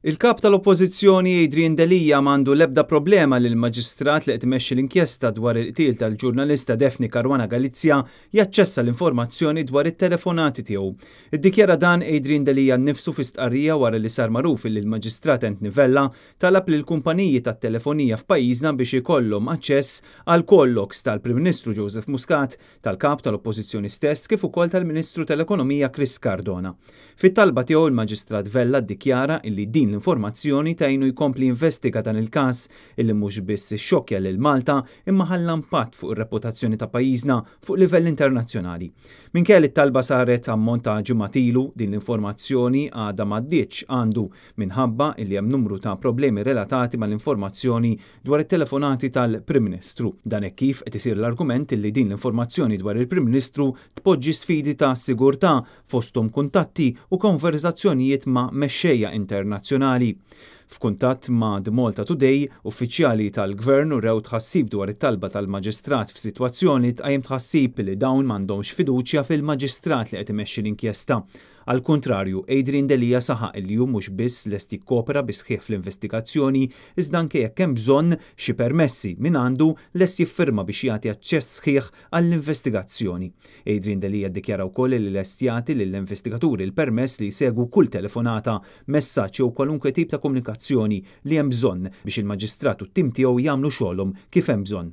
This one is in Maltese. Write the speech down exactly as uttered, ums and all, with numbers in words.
Il-kap tal-Oppożizzjoni Adrian Delia m'għandu l-ebda problema li l-maġistrat li qed imexxi l-inkjesta dwar il-qtil tal-ġurnalista Daphne Caruana Galizia jaċċessa l-informazzjoni dwar it-telefonati tiegħu. Iddikjara dan Adrian Delia nnifsu fi stqarrija wara li sar magħruf li l-Maġistrat Anthony Vella talab lil kumpaniji tat-telefonija f'pajjiżna biex ikollhom aċċess għal call logs tal-Prim Ministru Joseph Muscat, tal-kap tal-Oppożizzjoni stess, kif ukoll tal-Ministru tal-Ekonomija Chris Cardona. Fit-talba tiegħu, il-Maġistrat Vella ddikjara illi din l-informazzjoni tgħinu jkompli jinvestiga dan il-każ illi mhux biss ixxokkja lil Malta, imma ħalla impatt fuq ir-reputazzjoni ta' pajjiżna fuq livell internazzjonali. Minkejja li t-talba saret ammont ta' ġimgħat ilu, din l-informazzjoni għadha m'għaddietx għandu minħabba illi hemm numru ta' problemi relatati mal-informazzjoni dwar it-telefonati tal-Prim Ministru. Dan hekk kif qed isir l-argument illi din l-informazzjoni dwar il-Prim Ministru tpoġġi sfidi ta' sigurtà, fosthom kuntatti u konverzazzjonijiet ma' mexxejja internazzjonali. F'kuntatt ma' The Malta Today, uffiċjali tal-Gvern urew tħassib dwar it-talba tal-Maġistrat f'sitwazzjoni tqajjem tħassib li dawn m'għandhomx fiduċja fil-Maġistrat li qed imexxi l-inkjesta. Al kontrarju, Adrian Delia saħaq li hu mhux biss lest jikkopera bis-sħiħ fl-investigazzjoni, iżda anke jekk hemm bżonn xi permessi minn għandu, lest jiffirma biex jagħti aċċess sħiħ għall-investigazzjoni. Adrian Delia ddikjara wkoll li lest jagħti lill-investigaturi l-permess li jsegwu kull telefonata, messaġġ jew kwalunkwe tip ta' komunikazzjoni li hemm bżonn biex il-Maġistrat u t-tim tiegħu jagħmlu xogħolhom kif hemm bżonn.